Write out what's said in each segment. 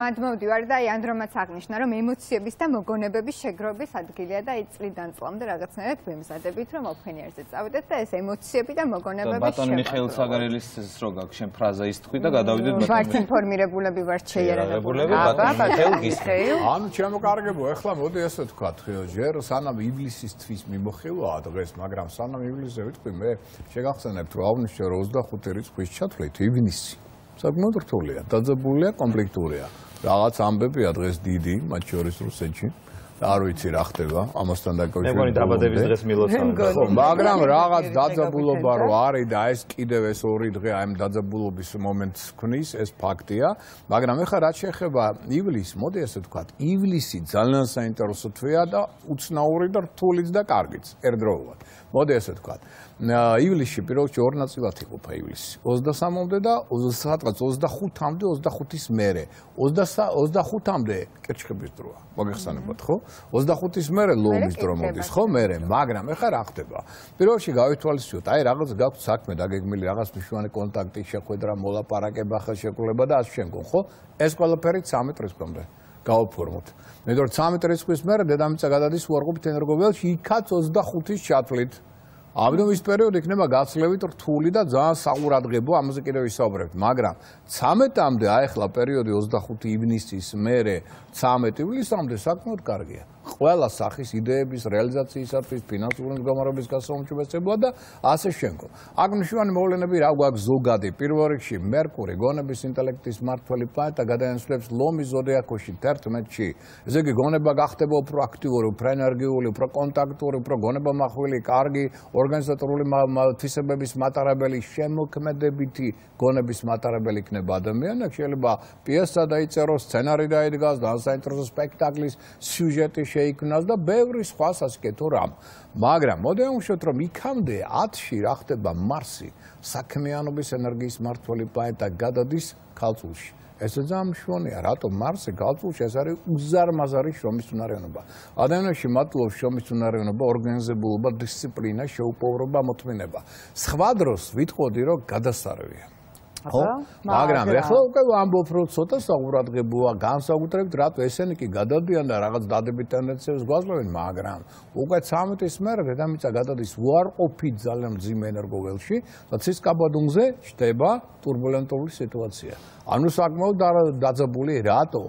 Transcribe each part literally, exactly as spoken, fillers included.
მანდ მოვდივარ და აი ანდრომაც აღნიშნა, რომ ემოციების და მოგონებების შეგროვის ადგილია და აი წლიდან წლამდე რაღაცნაირად ვემზადებით, რომ ოფენიერზე წავიდეთ და ეს ემოციები და მოგონებების შეგროვა. ბატონ მიხეილ საგარელის რო გაქვს შენ ფრაზა ის თქვი და გადავიდეთ ბატონ. ვართ ინფორმირებულები, ვართ შეიარაღებული. ბატონ მიხეილ გისმენთ. ანუ ჩემო კარგებო, ეხლა მოდი ასე ვთქვათ, ჯერ სანამ ივლისის თვის მიმოხილვაა დღეს, მაგრამ სანამ ივლისზე ვიტყვი მე, შეგახსენებთ რომ აღვნიშნე რომ ოცდახუთი რიცხვის ჩათვლით ივნისი. საკმაოდ რთულია, დაძაბულია, კომპლექტურია. რაღაც ამბებია დღეს დიდი, მათ შორის რუსეთში. არ ვიცი რა ხდება, ამასთან დაკავშირებით. მეგონი დაბადების დღეს მილოცავთ. მაგრამ რაღაც დაძაბულობა რო არის და ეს კიდევ ეს ორი დღე აი ამ დაძაბულობის მომენტს ქმნის, ეს ფაქტია. მაგრამ ეხლა რაც შეეხება ივლისს, მოდი ასე ვთქვათ, ივლისი ძალიან საინტერესო თვეა და უცნაური და რთულიც და კარგიც ერთდროულად. მოდი ასე ვთქვათ. ივლისში პირველ რიგში ორ ნაწილად იყოფა ივლისი. ოცდასამამდე და სადღაც ოცდახუთამდე, ოცდახუთის მერე. ოცდახუთამდე კერჩხების დროა. მოგეხსენებათ, ხო? ოცდახუთის მერე ლომის დრო მოდის, ხო? მერე, მაგრამ ეხლა რა ხდება? პირველ რიგში გავითვალისწინოთ, აი რაღაც გაქვთ საქმე დაგეგმილი, რაღაც მნიშვნელოვანი კონტაქტი, შეხვედრა, მოლაპარაკება, ხელშეკრულება და ასე შემდგომ, ხო? ეს ყველაფერი ცამეტ რიცხვამდე გავაფორმოთ. მე თვითონ ცამეტ რიცხვის მერე დედამიწა გადადის უარყოფით ენერგოველში, იქაც ოცდახუთის ჩათვლით. ამიტომ ის პერიოდი იქნება გაცლებით რთული და ძალიან საყურადღებო, ამაზე კიდევ ვისაუბრებთ, მაგრამ ცამეტამდე აი ახლა პერიოდი ოცდახუთი ივნისის მერე ცამეტ ივლისამდე საკმაოდ კარგია. ყველა სახის იდეების რეალიზაციისათვის, ფინანსური მდგომარეობის გასაუმჯობესებლად და ასე შემდგომ. აქ მნიშვნელოვანი მოვლენები რა გვაქვს ზოგადი. პირველ რიგში მერკური, გონების ინტელექტის მმართველი პლანეტა გადაინაცვლებს ლომის ზოდიაქოში თერთმეტში. ესე იგი გონება გახდება უფრო აქტიური, უფრო ენერგიული, უფრო კონტაქტური, უფრო გონებამახვილი, კარგი, ორგანიზატორული თვისებების მატარებელი, შემოქმედებითი გონების მატარებელი იქნება ადამიანი. შეიძლება პიესა დაიწეროს, სცენარი დაიდგას, და საინტერესო სპექტაკლის სიუჟეტი შეიქმნას და ბევრი სხვა სასიკეთო რამ. მაგრამ მოდი ავუშვათ, რომ იქამდე ათში რა ხდება მარსი, საქმიანობის ენერგიის მმართველი პლანეტა გადადის ქალწულში. ეს ძალიან მნიშვნელოვანია, რატომ მარსი ქალწულში ეს არის უზარმაზარი შრომის უნარიანობა. ადამიანში მატლობს შრომის უნარიანობა, ორგანიზებულობა, დისციპლინა, შეუპოვრობა, მოთმინება. სხვა დროს ვიტყოდი, რომ გადასარევია. ხო? მაგრამ ეხლა უკვე ვამბობ, რომ ცოტა საყურადღებოა, განსაკუთრებით რატო ესენი კი გადადიან და რაღაც დადებით ტენდენციებს გვაძლევენ, მაგრამ უკვე ცამეტის მერე დედამიწა გადადის უარყოფით ძალიან მძიმე ენერგოველში და ცისკაბადონზე ჩდება ტურბულენტული სიტუაცია. ანუ საკმაოდ დაძაბული რატო?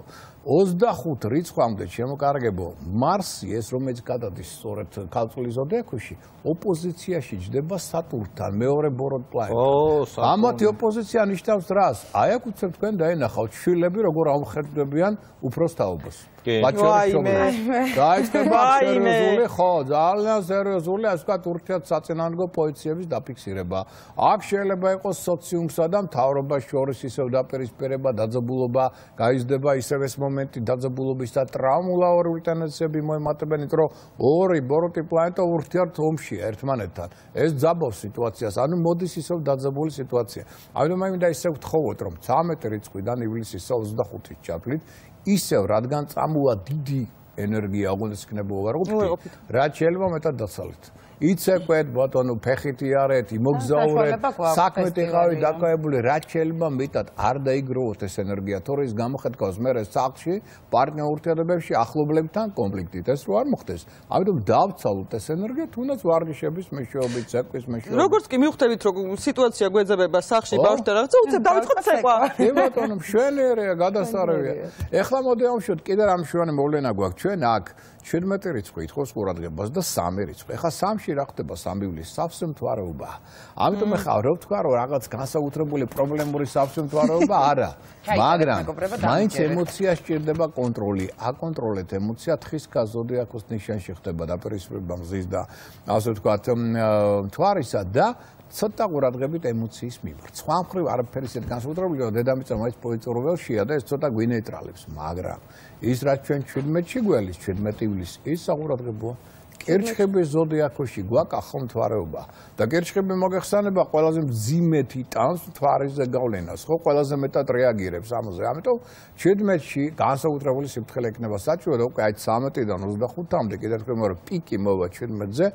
ოცდახუთ რიცხვამდე შემოკარგებო, მარსი ეს რომელიც გადადის სწორედ ქალწულის ზოდიაქოში, ოპოზიციაში ჯდება სატურნთან, მეორე ბოროტ პლანეტთან. ამათი ოპოზიცია ნიშნავს რას? აი აქ უცებ თქვენ დაენახავთ შვილები როგორ ამხერხდებიან უფროს თაობას. დაიწყება სერიოზული, ხო, ძალიან სერიოზული, ასე ვთქვათ, ურთიერთსაწინააღმდეგო პოზიციების დაფიქსირება. აქ შეიძლება იყოს სოციუმსა და მთავრობას შორის ისევ დაპირისპირება, დაძაბულობა, გაიზრდება ისევ ეს მომენტი დაძაბულობის და ტრაუმულაური ტენდენციები მოემატებიან, რომ ორი ბოროტი პლანეტა ურთიერთ ომშია ერთმანეთთან. ეს ძაბავს სიტუაციას, ანუ მოდის ისევ დაძაბული სიტუაცია. ამიტომ მე მინდა ისევ ვთხოვოთ, რომ ცამეტი რიცხვიდან ივლისის ოცდახუთის ჩათვლით ისევ რადგან წამოვა დიდი ენერგია, აღუნდეს იქნება უარყოფით, რაც შეიძლება მეტად დაცალეთ. იცეკვეთ, ბატონო, ფეხით იარეთ, იმოგზაურეთ, საქმეთ იყავით დაკავებული, რაც შეიძლება მეტად არ დაიგროვოთ ეს ენერგია, თორე ის გამოხეთქავს მერე სახლში, პარტნიორ ურთიერთობებში, ახლობლებთან კონფლიქტით, ეს რო არ მოხდეს. ამიტომ დავცალოთ ეს ენერგია, თუნდაც ვარჯიშების მეშვეობით, ცეკვის მეშვეობით. როგორც კი მივხვდებით, რომ სიტუაცია გვეძებება სახლში ბავშვთან რაღაცა, უცებ დავიწყოთ ცეკვა. კი ბატონო, მშვენიერია, გადასარევია. ეხლა მოდი ავშვათ, კიდე რა მშვენი მოვლენა გვაქვს ჩვენ აქ. შვიდმეტი რიცხვი ითხოვს ყურადღებას და სამი რიცხვი. ეხლა სამში რა ხდება სამი ივლისს? სავსე მთვარეობა. ამიტომ ეხლა რო ვთქვა, რომ რაღაც განსაკუთრებული პრობლემური სავსე მთვარეობა არა. მაგრამ მაინც ემოცია სჭირდება კონტროლი. აკონტროლეთ ემოცია, თხის ზოდიაქოს ნიშანში ხდება დაპირისპირება მზის და ასე ვთქვათ, მთვარისა და ცოტა ყურადღებით ემოციის მიმართ. სხვა მხრივ არაფერი ისეთ განსაკუთრებულიო, დედამიწა მაინც პოზიციურობელშია და ეს ცოტა გვინეიტრალებს, მაგრამ ის რაც ჩვენ შვიდმეტში გველის, შვიდმეტი ივლისი, ის საყურადღებოა. კერჩხების ზოდიაქოში გვაქვს ახალმთვარეობა და კერჩხები მოგეხსენება ყველაზე მძიმედ იტანს მთვარეზე გავლენას, ხო, ყველაზე მეტად რეაგირებს ამაზე. ამიტომ შვიდმეტში განსაკუთრებული სიფრთხილე იქნება საჭირო და უკვე აი ცამეტიდან ოცდახუთამდე კიდევ თქვენ პიკი მოვა შვიდმეტზე,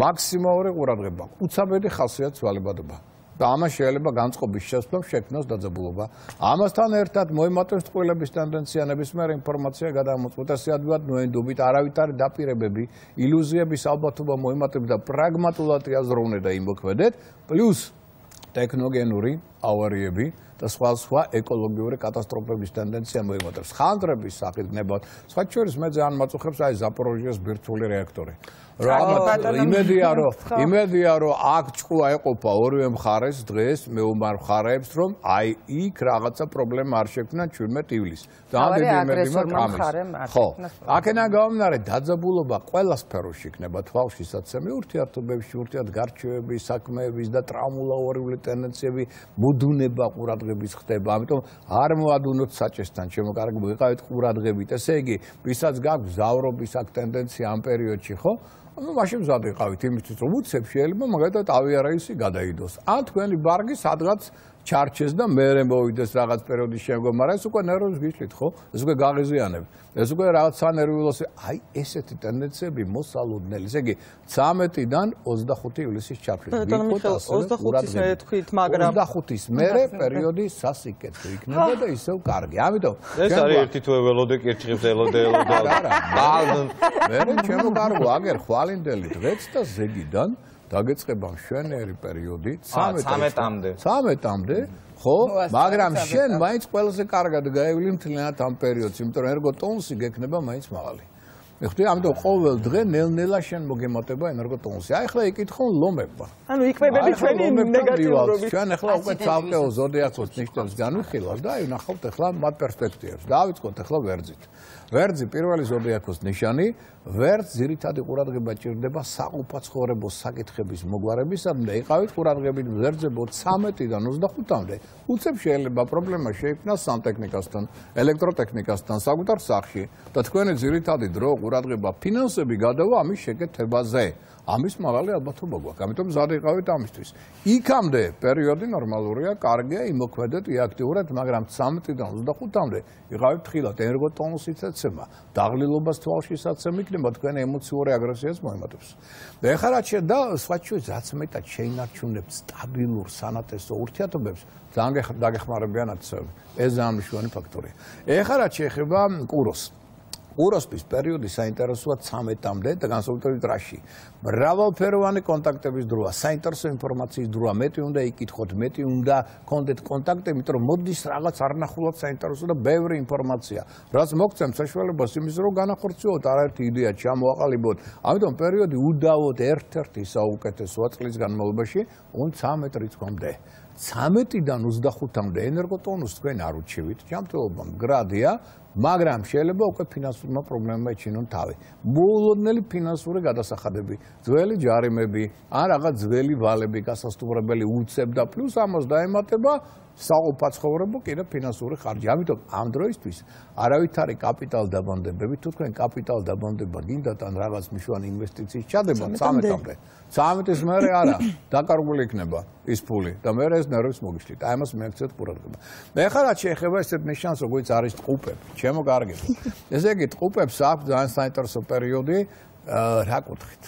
მაქსიმალური ყურადღება, უცაბედი ხასიათის ვალებადობა. და ამას შეიძლება განწყობის შესვლამ შექმნას დაძაბულობა. ამასთან ერთად მოიმატებს წყვილების ტენდენცია ნებისმიერ ინფორმაცია გადამოწყვეტას ადვილად ნოენდობით არავითარი დაპირებები, ილუზიების ალბათობა მოიმატებს და პრაგმატულად იაზროვნე და იმოქმედეთ, პლუს ტექნოგენური ავარიები და სხვა სხვა ეკოლოგიური კატასტროფების ტენდენცია მოიმატებს. ხანძრების სახით გნებავთ. სხვა შორის მე ძალიან მაწუხებს აი ზაპოროჟიეს ბირთვული რეაქტორი. რა იმედია რომ იმედია რომ აქ ჭკუა ეყოფა ორივე მხარეს დღეს მეომარ მხარეებს რომ აი იქ რაღაცა პრობლემა არ შექმნა ჩვენმეტ ივლისს. ძალიან დიდი იმედი მაქვს. ხო. აქედან გამომდინარე დაძაბულობა ყველა სფეროში იქნება თვალში საცემი ურთიერთობებში, ურთიერთგარჩევების, საქმეების და ტრაუმულაურიული ტენდენციები მოდუნება ყურადღების ხდება. ამიტომ არ მოადუნოთ საჭესთან, ჩემო კარგი, ვიყავით ყურადღებით. ესე იგი, ვისაც გაქვს ზავრობის აქ ტენდენცია ამ პერიოდში, ხო? ну მაშინ მზად იყავით იმისთვის რომ უცებ შეიძლება მაგალითად ავიარეისი გადაიდოს. ან თქვენი ბარგი სადღაც ჩარჩეს და მერე მოვიდეს რაღაც პერიოდის შემდგომ, მაგრამ ეს უკვე ნერვებს გიშლით, ხო? ეს უკვე გაღიზიანებთ. ეს უკვე რაღაც სანერვიულოს, აი ესეთი ტენდენციები მოსალოდნელი. ესე იგი ცამეტიდან ოცდახუთი ივლისის ჩაფრით. ოცდახუთის მერე თქვით, მაგრამ ოცდახუთის მერე პერიოდი სასიკეთო იქნება და ისევ კარგი. ამიტომ ეს არის ერთი თუ ველოდე კირჩხებს ელოდე ელოდე. არა. მერე ჩემო კარგო, აგერ ხვალინდელი დღეც და ზეგიდან დაგეწყება მშვენიერი პერიოდი ცამეტამდე. ცამეტამდე, ხო? მაგრამ შენ მაინც ყველაზე კარგად გაივლი მთლიანად ამ პერიოდს, იმიტომ რომ ენერგოტონუსი გექნება მაინც მაღალი. მიხდი, ამიტომ ყოველ დღე ნელ-ნელა შენ მოგემატება ენერგოტონუსი. აი ახლა იკითხონ ლომებმა. ანუ იკვებები ჩვენი ნეგატიურობით. ჩვენ ახლა უკვე ცალკეულ ზოდიაქოს ნიშნებს განვიხილავთ და აი ნახავთ ახლა მათ პერსპექტივებს. დავიწყოთ ახლა ვერძით. ვერძი პირველი ზოდიაქოს ნიშანი, ვერძ ძირითადი ყურადღება ჭირდება საყოფაცხოვრებო საკითხების მოგვარებისადმი და იყავით ყურადღებით ვერძებო ცამეტიდან ოცდახუთამდე. უცებ შეიძლება პრობლემა შეიქმნას სანტექნიკასთან, ელექტროტექნიკასთან, საკუთარ სახლში და თქვენი ძირითადი დრო ყურადღება ფინანსები გადავა ამის შეკეთებაზე. ამის მაღალი ალბათობა გვაქვს. ამიტომ მზად იყავით ამისთვის. იქამდე პერიოდი ნორმალურია, კარგია, იმოქმედეთ იაქტიურად, მაგრამ ცამეტიდან ოცდახუთამდე იყავით თხილად ენერგოტონუსით ეცემა, დაღლილობას თვალში საცემი იქნება, თქვენ ემოციური აგრესიას მოემატებს. და ეხლა რაც შედა სხვა ჩვენს რაც მეტად შეინარჩუნებთ სტაბილურ სანათესო ურთიერთობებს, ძალიან დაგეხმარებიანად ცევი. ეს ძალიან მნიშვნელოვანი ფაქტორია. ეხლა რაც შეეხება კუროს კუროსთვის პერიოდი საინტერესოა ცამეტამდე და განსაკუთრებით რაში. მრავალფეროვანი კონტაქტების დროა, საინტერესო ინფორმაციის დროა, მეტი უნდა იკითხოთ, მეტი უნდა გქონდეთ კონტაქტები, იმიტომ რომ მოდის რაღაც არნახულად საინტერესო და ბევრი ინფორმაცია. რაც მოგცემ საშუალებას იმის რომ განახორციელოთ არაერთი იდეა ჩამოაყალიბოთ. ამიტომ პერიოდი უდავოდ ერთ-ერთი საუკეთესოა წლის განმავლობაში ცამეტ რიცხვამდე. ცამეტიდან ოცდახუთამდე ენერგოტონუსს თქვენ არ უჩივით, ჯანმრთელობა მდგრადია, მაგრამ შეიძლება უკვე ფინანსურმა პრობლემებმა ეჩინონ თავი. მოულოდნელი ფინანსური გადასახადები, ძველი ჯარიმები, ან რაღაც ძველი ვალები გასასტუმრებელი უცებ და პლუს ამას დაემატება საყოფაცხოვრებო კიდე ფინანსური ხარჯი. ამიტომ ამ დროისთვის არავითარი კაპიტალ დაბანდებები, თუ თქვენ კაპიტალ დაბანდება გინდათ ან რაღაც მნიშვნელოვანი ინვესტიციის ჩადება ცამეტამდე. ცამეტის მერე არა, დაკარგული იქნება ის ფული და მერე ეს ნერვებს მოგიშლით. აი ამას მიაქცეთ ყურადღება. და ეხლა რაც შეეხება ესეთ ნიშანს, როგორც არის ტყუპები, ჩემო კარგებო. ესე იგი ტყუპებს აქვს ძალიან საინტერესო პერიოდი, რა კუთხით?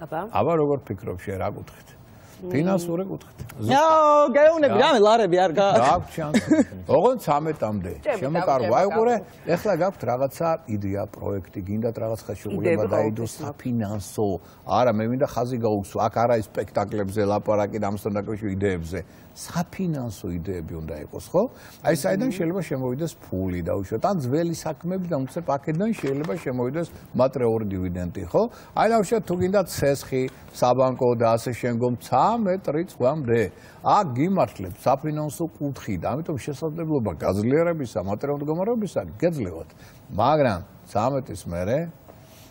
აბა? აბა როგორ ფიქრობ შენ რა კუთხით? ფინანსური კუთხით. აო, გაეუნები, რამე ლარები არ გა. გაქვს ჩანსი. ოღონდ ცამეტამდე. შემოკარგო. აი ყურე, ეხლა გაქვთ რაღაცა იდეა, პროექტი, გინდათ რაღაც ხელშეკრულება დაიდოს საფინანსო. არა, მე მინდა ხაზი გაუგსო. აქ არა ის სპექტაკლებზე ლაპარაკი და ამასთან დაკავშირებით იდეებზე. საფინანსო იდეები უნდა იყოს, ხო? აი საიდან შეიძლება შემოვიდეს ფული დაუშვათ. ან ძველი საქმეები და უცებ აქედან შეიძლება შემოვიდეს მატერიული დივიდენდი, ხო? აი დავუშვათ თუ გინდათ ცესხი, საბანკო და ასე შემდგომ ცამეტ რიცხვამდე. აქ გიმართლებთ საფინანსო კუთხით, ამიტომ შესაძლებლობა გაძლიერებისა, მატერიალური მდგომარეობისა გეძლევათ. მაგრამ ცამეტის მერე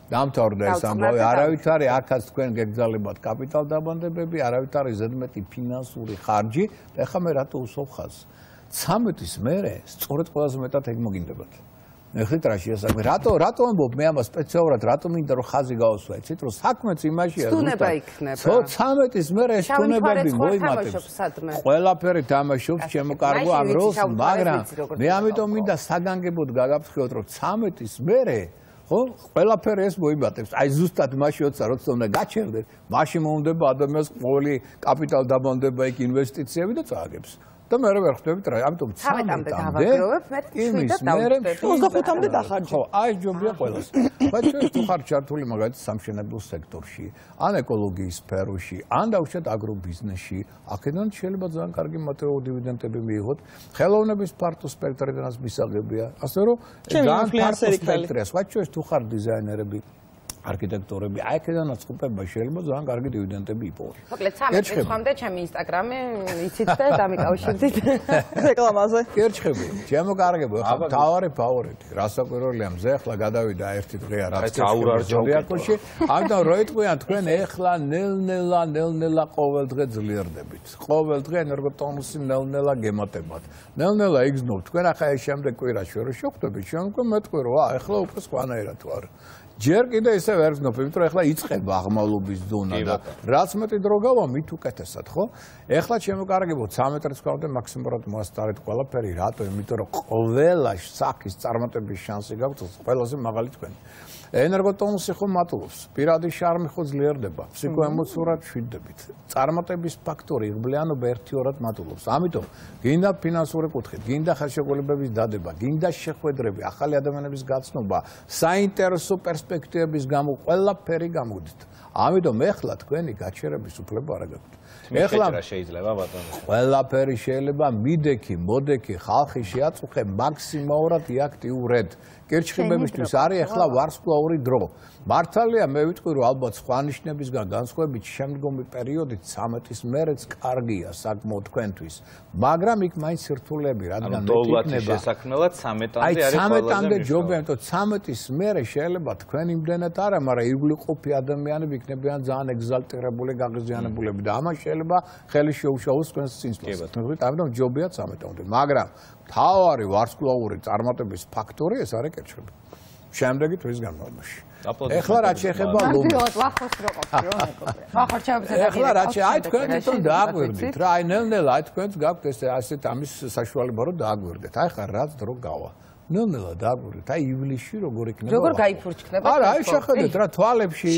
დამთავრდა ეს ამბავი, არავითარი აქაც თქვენ გეგზალებათ კაპიტალ დაბანდებები, არავითარი ზედმეტი ფინანსური ხარჯი და ეხლა მე რატო უსვამ ხაზს? ცამეტის მერე სწორედ ყველაზე მეტად ეგ მოგინდებათ. ეხლა რა შეასაქმე? რატო რატო ამბობ მე ამას სპეციალურად, რატო მინდა რომ ხაზი გავუსვა? იცით რომ საქმეც იმაშია სტუნება იქნება. ხო, ცამეტის მერე სტუნებები მოიმატებს. ყველაფერი თამაშობს ჩემო კარგო ამ როლს, მაგრამ მე ამიტომ მინდა საგანგებოდ გაგაფრთხილოთ რომ ცამეტის მერე ხო? ყველაფერი ეს მოიბატებს. აი ზუსტად მაშინ როცა როცა უნდა გაჩერდეთ, მაშინ მომდება ადამიანს ყოველი კაპიტალი დაბანდება იქ ინვესტიციები და წააგებს. და მე ვერ ხვდებით რა, ამიტომ ცამეტამდე დავაგროვებ, მე შვიდად დავუშვებ. ოცდახუთამდე დახარჯე. ხო, აი ჯობია ყველას. բայց თუ ხარ ჩართული მაგალითად სამშენებლო სექტორში, ან ეკოლოგიის სფეროში, ან დაუშვათ აგრობიზნესში, აქედან შეიძლება ძალიან კარგი მატერიალური დივიდენდები მიიღოთ. ხელოვნების ფართო სპექტრიდანაც მისაღებია. ასე რომ ძალიან ფართო სპექტრია. სხვა თუ ხარ დიზაინერები, არქიტექტორები, აი აქედანაც ხუპება შეიძლება ძალიან კარგი დივიდენდები იპოვოთ. მოკლედ ცამეტ წუთამდე ჩემი ინსტაგრამი იცით და დამიკავშირდით რეკლამაზე. კერჩხები, ჩემო კარგებო, ახლა თავარი ფავორიტი. რასაკვირველია, მზე ახლა გადავიდა ერთი დღეა რაც ზოდიაკოში. ამიტომ რო იტყვიან თქვენ ახლა ნელ-ნელა, ნელ-ნელა ყოველ დღე ძლიერდებით. ყოველ დღე ენერგოტონუსი ნელ-ნელა გემატებათ. ნელ-ნელა იგზნობთ. თქვენ ახლა ეს შემდეგ კვირაში რო შევხვდებით, შემდგომ მეტყვი რა, ახლა უკვე სხვანაირად ვარ. ჯერ კიდე ისე ვერ გზნობ, იმიტომ რომ ახლა იწყება აღმავლობის ზონა და რაც მეტი დრო გავა, მით უკეთესად, ხო? ახლა ჩემო კარგებო, ცამეტ რიცხვამდე მაქსიმალურად მოასწარეთ ყველაფერი, რატო? იმიტომ რომ ყველა სახის წარმატების შანსი გაქვთ, ყველაზე მაღალი თქვენი. ენერგოტონუსი ხო მატულობს, პირადი შარმი ხო ძლიერდება, ფსიქოემოციურად მშვიდდებით. წარმატების ფაქტორი იღბლიანობა ერთი-ორად მატულობს. ამიტომ გინდა ფინანსური კუთხით, გინდა ხელშეკრულებების დადება, გინდა შეხვედრები, ახალი ადამიანების გაცნობა, საინტერესო პერსპექტივების გამო ყველაფერი გამოდით. ამიტომ ეხლა თქვენი გაჩერების უფლება არ გაქვთ. ეხლა შეიძლება ბატონო. ყველაფერი შეიძლება მიდექი, მოდექი, ხალხი შეაწუხე მაქსიმალურად იაქტიურეთ. კერჩხიბებისთვის არის ახლა ვარსკვლავური დრო. მართალია მე ვიტყვი რომ ალბათ სხვა ნიშნებისგან განსხვავებით შემდგომი პერიოდი ცამეტის მერეც კარგია საკმაოდ თქვენთვის. მაგრამ იქ მაინც სირთულეები, რადგან მე ვიქნება შესაქმნელად ცამეტამდე არის ყველაზე ცამეტამდე ჯობია, იმიტომ ცამეტის მერე შეიძლება თქვენ იმდენად არა, მაგრამ იგულიყופי ადამიანები იქნებიან ძალიან ეგზალტირებული, გაღიზიანებულები და ამას შეიძლება ხელი შეუშალოს თქვენს წინსვლას. ამიტომ ჯობია ცამეტამდე, მაგრამ თავარი ვარსკვლავური წარმატების ფაქტორი ეს არის კერჩხები. შემდეგი თვის განმავლობაში. ეხლა რაც შეეხება ლომს. ვახოს რო ყოფილი რომ მეკობრე. ვახორჩაბზე ეხლა რაც აი თქვენ თვითონ დააგვირდით რა, აი ნელ-ნელა აი თქვენც გაქვთ ეს ასეთ ამის საშუალება რომ დააგვირდეთ. აი ხარ რაც დრო გავა. ნელ-ნელა დააგვირდით. აი ივლისში როგორ იქნება? როგორ გაიფურჩქნება? არა, აი შეხედეთ რა თვალებში,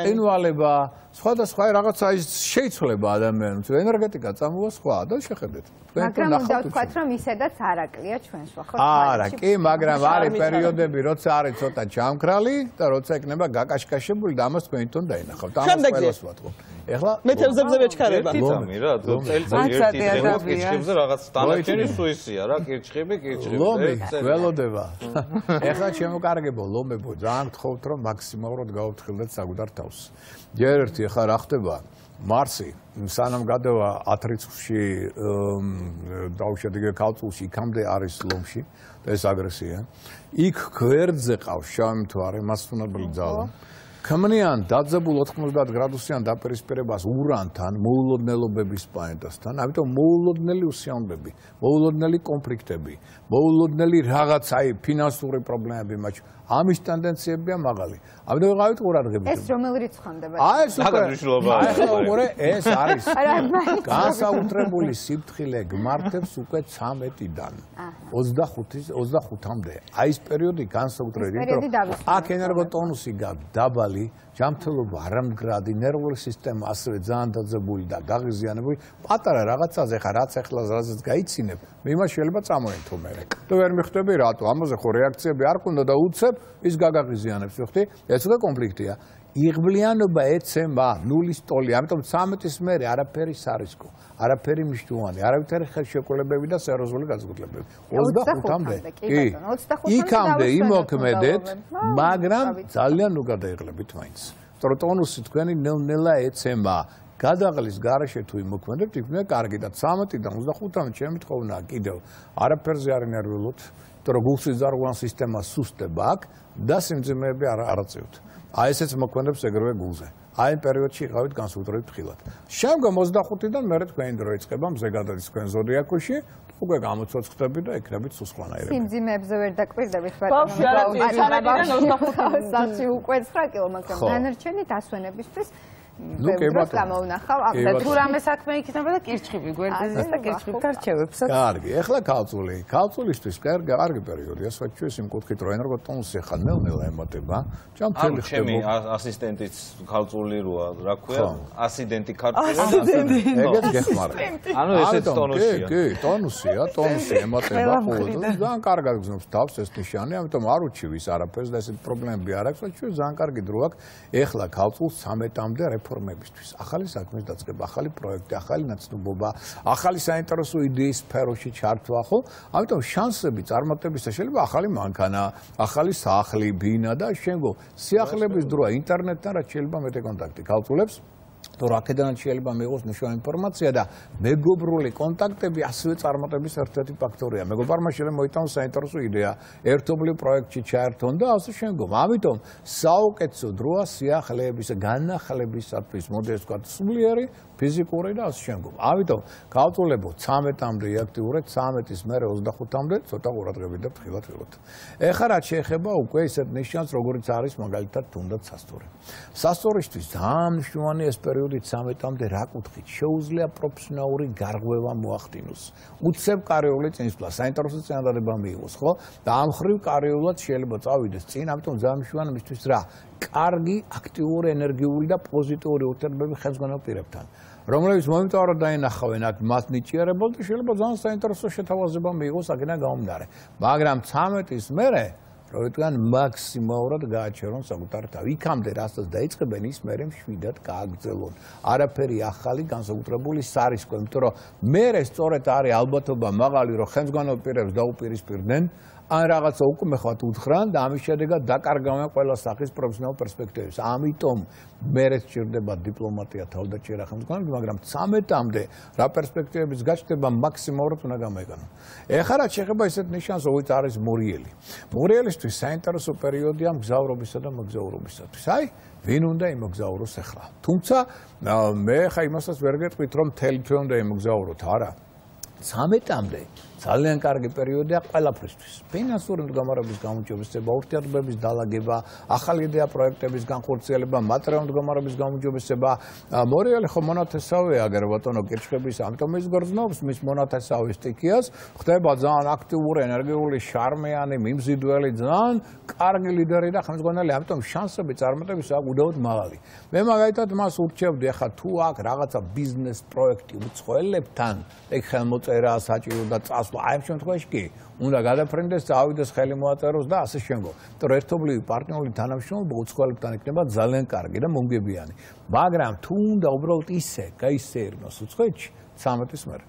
წინვალება, სხვადასხვა რაღაცა ის შეიცვლება ადამიანს. ენერგეტიკა წამოვა სხვა და შეხედეთ. მაგრამ უნდა ვთქვათ რომ ისედაც არაკლია ჩვენს ხო? არა, კი, მაგრამ არის პერიოდები, როცა არის ცოტა ჯამქრალი და როცა იქნება გაკაშკაშებული და ამას თქვენ თვითონ დაინახავთ. ამას ყველას ვატყობ. ეხლა მეთევზებზე მეჩქარება. თითამი რა, წელიწადში ერთი დღე კირჩხებზე რაღაც დანარჩენი სუისია რა, კირჩხები, კირჩხები. ლომი, ველოდება. ეხლა ჩემო კარგებო, ლომებო, ძალიან გთხოვთ რომ მაქსიმალურად გაუფრთხილდეთ საკუთარ თავს. ჯერ ერთი ახლა რა ხდება? მარსი სანამ გადავა ათ რიცხვში დაუშვათ იგივე ქალწულში იქამდე არის ლომში და ეს აგრესია. იქ გვერდზე ყავს შავი მთვარე, მასწავლებელი ძალა. ქმნიან დაძაბულ ოთხმოცდაათ გრადუსიან დაპირისპირებას ურანთან, მოულოდნელობების პლანეტასთან, ამიტომ მოულოდნელი უსიამოვნებები, მოულოდნელი კონფლიქტები, მოულოდნელი რაღაც აი ფინანსური პრობლემები მათ ამის ტენდენციებია მაღალი. ამიტომ ვიყავით ყურადღებით. ეს რომელი რიცხვამდე? აი ეს უკვე მნიშვნელობა აი ხო მორე ეს არის განსაკუთრებული სიფრთხილე გმართებს უკვე ცამეტიდან ოცდახუთის ოცდახუთამდე. აი ეს პერიოდი განსაკუთრებით, რომ აქ ენერგოტონუსი გაქვს დაბალი, ჯანმრთელობა არამდგრადი, ნერვული სისტემა ასევე ძალიან დაძაბული და გაღიზიანებული. პატარა რაღაცაზე ხა რაც ახლა რაზეც გაიცინებ, მე იმას შეიძლება წამოენთო მე. თუ ვერ მიხვდები რატო? ამაზე ხო რეაქციები არ ქონდა და უცებ ის გაგაღიზიანებს, ხოხტი? ეს უკვე კონფლიქტია. იღბლიანობა ეცემა ნულის ტოლი, ამიტომ ცამეტის მერე არაფერი სარისკო, არაფერი მნიშვნელოვანი, არავითარი ხელშეკრულებები და სერიოზული განსაკუთრებები. ოცდახუთამდე. კი. იქამდე იმოქმედეთ, მაგრამ ძალიან ნუ გადაიღლებით მაინც. ტონუსი თქვენი ნელ-ნელა ეცემა. გადაღლის garaშე თუ იმოქმედებთ, იქნება კარგი და ცამეტიდან ოცდახუთამდე ჩემი თხოვნა კიდევ არაფერზე არ ინერვილოთ, იმიტომ რომ გულსიზარღვან სისტემა სუსტება აქ და სიმძიმეები არ არაწევთ. აი ესეც მოქმედებს ეგრევე გულზე. აი პერიოდში იყავით განსაკუთრებით ხილად. შემდგომ ოცდახუთიდან მერე თქვენი დრო იწყება, მზე გადადის თქვენ ზოდიაკოში, უკვე გამოცოცხლდები და იქნებით სულ სხვანაირები. სიმძიმეებზე ვერ დაკვირდებით ბავშვი არა ცამეტიდან ოცდახუთამდე სახში უკვე ცხრა კილო, მაგრამ დანარჩენი დასვენებისთვის ბევრს გამოვნახავ ამ და თუ რამე საქმე იქნება და კირჩხიბი გვერდზე და კირჩხიბით არჩევებს. კარგი, ეხლა ქალწული. ქალწულისთვის კარგი კარგი პერიოდია, საჩუეს იმ კუთხით რომ ენერგოტონუსი ხან ნელ-ნელა ემატება. ჩემი ჩემი ასისტენტიც ქალწული როა, რა ქვია? ასიდენტი ქალწული. ეგეც გეხმარა. ანუ ესეც ტონუსია. კი, კი, ტონუსია, ტონუსი ემატება ყოველდღე. ძალიან კარგად გზნობს თავს ეს ნიშანი, ამიტომ არ უჩივის არაფერს და ესეთ პრობლემები არ აქვს, საჩუეს ძალიან კარგი დრო აქვს. ეხლა ქალწულს ცამეტამდე რეფორმებისთვის. ახალი საქმის დაწყება, ახალი პროექტი, ახალი ნაცნობობა, ახალი საინტერესო იდეის სფეროში ჩართვა, ხო? ამიტომ შანსები წარმატებისა შეიძლება ახალი მანქანა, ახალი სახლი, ბინა და შემდგომ სიახლეების დროა ინტერნეტთან რაც შეიძლება მეტი კონტაქტი ქალწულებს თუ რაკედანაც შეიძლება მიიღოს მნიშვნელოვანი ინფორმაცია და მეგობრული კონტაქტები ასევე წარმატების ერთ-ერთი ფაქტორია. მეგობარმა შეიძლება მოიტანოს საინტერესო იდეა, ერთობლივ პროექტში ჩაერთონ და ასე შემდგომ. ამიტომ საუკეთესო დროა სიახლეების განახლებისათვის, მოდეს ვთქვათ, სულიერი ფიზიკური და ასე შემდგომ. ამიტომ ქალწულებო ცამეტამდე იაქტიურეთ, ცამეტის მერე ოცდახუთამდე ცოტა ყურადღებით და ფრთხილად. ეხლა რაც შეეხება უკვე ისეთ ნიშანს, როგორც არის მაგალითად თუნდაც სასტური. სასტურისთვის ძალიან მნიშვნელოვანი ეს პერიოდი ცამეტამდე რა კუთხით შეუძლია პროფესიონალური გარღვევა მოახდინოს. უცებ კარიული წინსვლა, საინტერესო წინადადება მიიღოს, ხო? და ამ ხრივ კარიულად შეიძლება წავიდეს წინ, ამიტომ ძალიან მნიშვნელოვანია მისთვის რა? კარგი, აქტიური, ენერგიული და პოზიტიური ურთიერთობები ხელმძღვანელ პირებთან. რომლებიც მომიტოვაროდ დაინახავენ აქ მას ნიჭიერებელ და შეიძლება ძალიან საინტერესო შეთავაზება მიიღოს აქედან გამომდინარე. მაგრამ ცამეტის მერე რომ იტყვიან მაქსიმალურად გააჩერონ საკუთარი თავი. იქამდე რასაც დაიწყებენ ის მერე მშვიდად გააგრძელონ. არაფერი ახალი განსაკუთრებული სარისკო, იმიტომ რომ მერე სწორედ არის ალბათობა მაღალი რომ ხელმძღვანელ პირებს დაუპირისპირდნენ ან რაღაცა უკვე ხათ უთხრან და ამის შედეგად დაკარგავენ ყველა სახის პროფესიონალ პერსპექტივებს. ამიტომ მერე სჭირდება დიპლომატია, თავდაჭერა, ხელმძღვანელობა, მაგრამ ცამეტამდე რა პერსპექტივების გაჩნდება მაქსიმალურად უნდა გამოიყენო. ეხლა რაც შეეხება ისეთ ნიშანს, როგორც არის მურიელი. მურიელისთვის საინტერესო პერიოდია მგზავრობისა და მოგზაურობისათვის. აი, ვინ უნდა იმოგზაუროს ახლა. თუმცა მე ხა იმასაც ვერ გეტყვით, რომ მთელი თვე უნდა იმოგზაუროთ, არა. ცამეტამდე ძალიან კარგი პერიოდია ყველაფრისთვის. ფინანსური მდგომარეობის გამოძიებისება, ურთიერთობების დალაგება, ახალი იდეა პროექტების განხორციელება, მატერიალური მდგომარეობის გამოძიებისება. მორიელი ხო მონათესავეა აგერ ბატონო კირჩხების, ამიტომ ის გრძნობს მის მონათესავის სტიქიას, ხდება ძალიან აქტიური, ენერგიული, შარმიანი, მიმზიდველი, ძალიან კარგი ლიდერი და ხელმძღვანელი, ამიტომ შანსები წარმატების აქვს უდაოდ მაღალი. მე მაგალითად მას ურჩევდი, ახლა თუ აქ რაღაცა ბიზნეს პროექტი უცხოელებთან, ეგ ხელმოწერა საჭირო და წას აი ამ შემთხვევაში კი უნდა გადაფრენდეს, წავიდეს ხელი მოაწეროს და ასე შემდგომ. იმიტომ ერთობლივი პარტნიორული თანამშრომლობა უცხოელებთან იქნება ძალიან კარგი და მომგებიანი. მაგრამ თუ უნდა უბრალოდ ისე გაისეირნოს უცხოეთში ცამეტის მერე.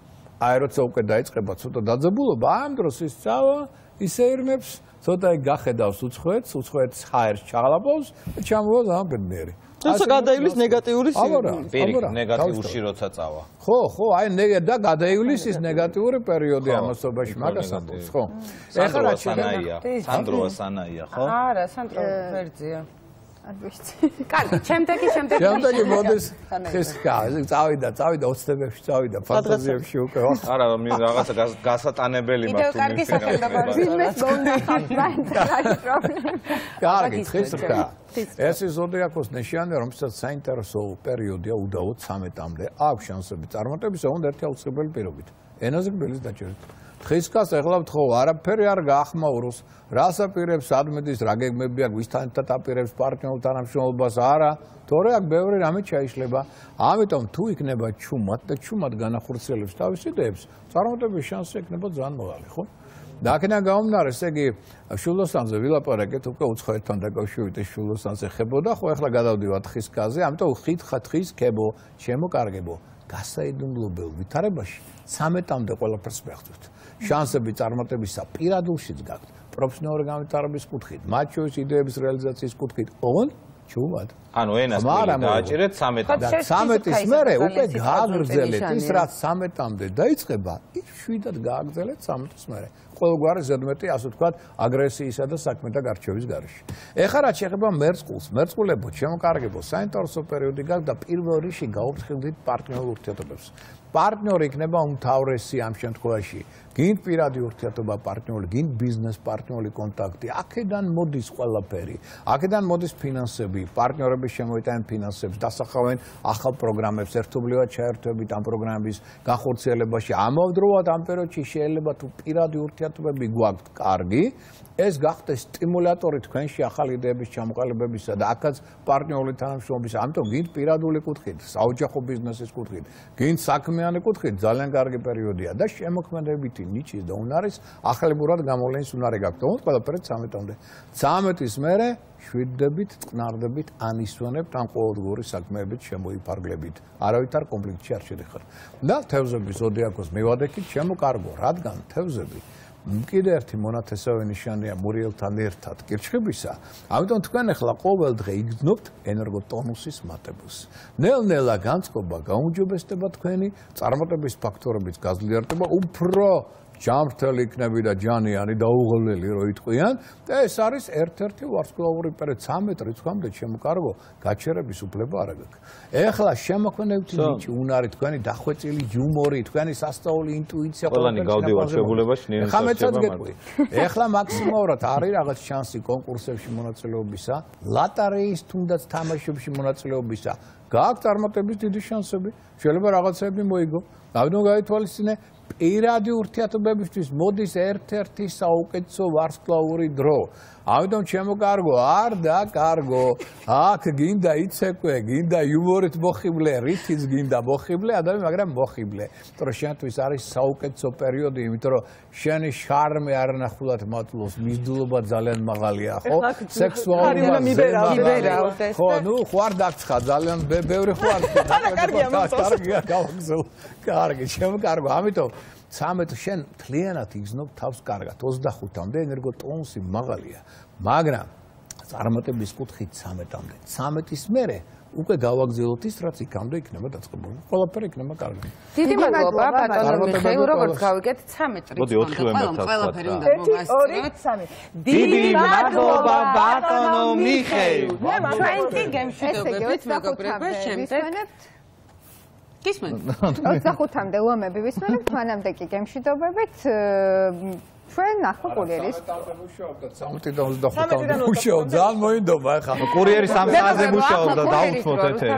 აი როცა უკვე დაიწყება ცოტა დაძაბულობა, ამ დროს ის წავა, ისეირნებს, ცოტა გახედავს უცხოეთს, უცხოეთს ჰაერს ჩაღლაპავს და ჩამოვა ძალიან ბედნიერი. როცა გადაივლის ნეგატიური პირიქით ნეგატიურში როცა წავა. ხო, ხო, აი და გადაივლის ნეგატიური პერიოდი ამასობაში მაგას ამბობს, ხო? ეხლა რა სანაია? სანდროა სანაია, ხო? არა, სანდრო ვერძია. არ ვიცი. კარგი, შემდეგი, შემდეგი. შემდეგი მოდის ხესკა, წავიდა, წავიდა ოცნებებში, წავიდა ფანტაზიებში უკვე. არა, მე რაღაცა გასატანებელი მაქვს. კიდევ კარგი სახელმწიფო ბიზნეს მომნახავ, საინტერესო პრობლემა. კარგი, ხესკა. ეს ზოდიაქოს ნიშანია, რომელსაც საინტერესო პერიოდია უდაოდ ცამეტამდე. აქვს შანსები წარმატებისა, უნდა ერთი აუცილებელი პირობით. ენაზე გბილის დაჭერით. ხისკას ეხლა ვთხოვ, არაფერი არ გაახმაუროს, რას აპირებს ადმედის, რა გეგმები აქვს, ვისთან აპირებს პარტნიორულ თანამშრომლობას, არა, თორე აქ ბევრი რამე ჩაიშლება. ამიტომ თუ იქნება ჩუმად და ჩუმად განახორციელებს თავის იდეებს, წარმატების შანსი იქნება ძალიან მაღალი, ხო? და აქედან გამომდინარე, ესე იგი, შულოსანზე ვილაპარაკეთ, უკვე უცხოეთთან დაკავშირებით ეს შულოსანზე ხებოდა, ხო ახლა გადავდივართ ხისკაზე, ამიტომ ხითხა თხის ქებო, შემოკარგებო, გასაიდუმლოებელ ვითარებაში ცამეტამდე ყველაფერს მეხსოვთ. შანსები წარმატებისა პირადულშიც გაქვთ, პროფესიონალური განვითარების კუთხით, მათ შორის იდეების რეალიზაციის კუთხით, ოღონდ ჩუმად. ანუ ენას დააჭერეთ ცამეტამდე. და ცამეტის მერე უკვე გააგრძელეთ ის, რაც ცამეტამდე დაიწყება, ის შვიდად გააგრძელეთ ცამეტის მერე. ყოველგვარი ზედმეტი, ასე ვთქვათ, აგრესიისა და საქმეთა გარჩევის გარეშე. ეხლა რაც შეეხება მერწყულს, მერწყულებო, ჩემო კარგებო, საინტერესო პერიოდი გაქვს და პირველ რიგში გაუფრთხილდით პარტნიორულ ურთიერთობებს. პარტნიორი იქნება უმთავრესი ამ შემთხვევაში. გინდ პირადი ურთიერთობა პარტნიორი, გინდ ბიზნეს პარტნიორული კონტაქტი. აქედან მოდის ყველაფერი. აქედან მოდის ფინანსები, პარტნიორები შემოიტანენ ფინანსებს, დასახავენ ახალ პროგრამებს, ერთობლივად ჩაერთვებით ამ პროგრამების განხორციელებაში. ამავდროულად ამ პერიოდში შეიძლება თუ პირადი ურთიერთობები გვაქვთ კარგი, ეს გახდეს სტიმულატორი თქვენში ახალი იდეების ჩამოყალიბებისა და აქაც პარტნიორული თანამშრომლობის. ამიტომ გინდ პირადული კუთხით, საოჯახო ბიზნესის კუთხით, გინდ საქმიანი კუთხით ძალიან კარგი პერიოდია და შემოქმედებითი ნიჩის და უნარის ახლებურად გამოვლენის უნარი გაქვთ. თუმცა ყველაფერი ცამეტამდე. ცამეტის მერე შვიდდებით, წყნარდებით, ანისვენებთ ამ ყოველდღიური საქმეებით შემოიფარგლებით. არავითარ კონფლიქტში არ შედიხარ. და თევზების ზოდიაქოს მივადექით, ჩემო კარგო, რადგან თევზები კიდე ერთი მონათესავე ნიშანია მურიელთან ერთად კირჩხიბისა, ამიტომ თქვენ ახლა ყოველ დღე იგრძნობთ ენერგოტონუსის მატებულს. ნელ-ნელა განწყობა გაუმჯობესდება თქვენი წარმატების ფაქტორების გაზრდიარდება, უფრო ჯანმრთელი იქნები და ჯანიანი და უღლელი რო იტყვიან და ეს არის ერთ-ერთი ვარსკვლავური პერიოდი ცამეტ რიცხვამდე ჩემო კარგო გაჩერების უფლება არ აქვს. ეხლა შემოქმედებითი ნიჭი, უნარი, თქვენი დახვეწილი იუმორი, თქვენი სასწაული ინტუიცია ყველანი გავდივართ შეგულებაში ნიენსაცება გეტყვი. ეხლა მაქსიმალურად არის რაღაც შანსი კონკურსებში მონაწილეობისა, ლატარეის თუნდაც თამაშებში მონაწილეობისა. გააქვთ წარმატების დიდი შანსები, შეიძლება რაღაცები მოიგო. ამიტომ გაითვალისწინე პირადი ურთიერთობებისთვის მოდის ერთ-ერთი საუკეთესო ვარსკვლავური დრო. ამიტომ ჩემო კარგო, არ და კარგო, აქ გინდა იცეკვე, გინდა იუმორით მოხიბლე, რითიც გინდა მოხიბლე, ადამიანი, მაგრამ მოხიბლე. იმიტომ რომ შენთვის არის საუკეთესო პერიოდი, იმიტომ რომ შენი შარმი არანახულად მატლობს, მიზიდულობა ძალიან მაღალია, ხო? სექსუალური ხო, ნუ ხო არ დაგცხა, ძალიან ბევრი ხო არ კარგია, კარგია, გავაგზავნე. კარგი, ჩემო კარგო, ამიტომ ცამეტ შენ მთლიანად იგრძნობ თავს კარგად. ოცდახუთამდე ენერგოტონუსი მაღალია, მაგრამ წარმატების კუთხით ცამეტამდე. ცამეტის მერე უკვე გავაგზავნოთ ის, რაც იქამდე იქნება დაწყებული. ყველაფერი იქნება კარგი. დიდი მადლობა ბატონო მიხეილ, როგორც გავიგეთ ცამეტ რიცხვამდე ყველაფერი უნდა მოვასწროთ. დიდი მადლობა ბატონო მიხეილ. ჩვენ კი გემშვიდობებით მეგობრებო, შემდეგ გისმენთ. ოცდახუთამდე ლომები ვისმენთ, მანამდე კი გემშვიდობებით. ჩვენ ნახო კურიერის. სამი და ოცდახუთამდე მუშაობ, ძალიან მოინდომა ახლა. კურიერი სამ საათზე მუშაობდა, დაუცმოთ ეთერი.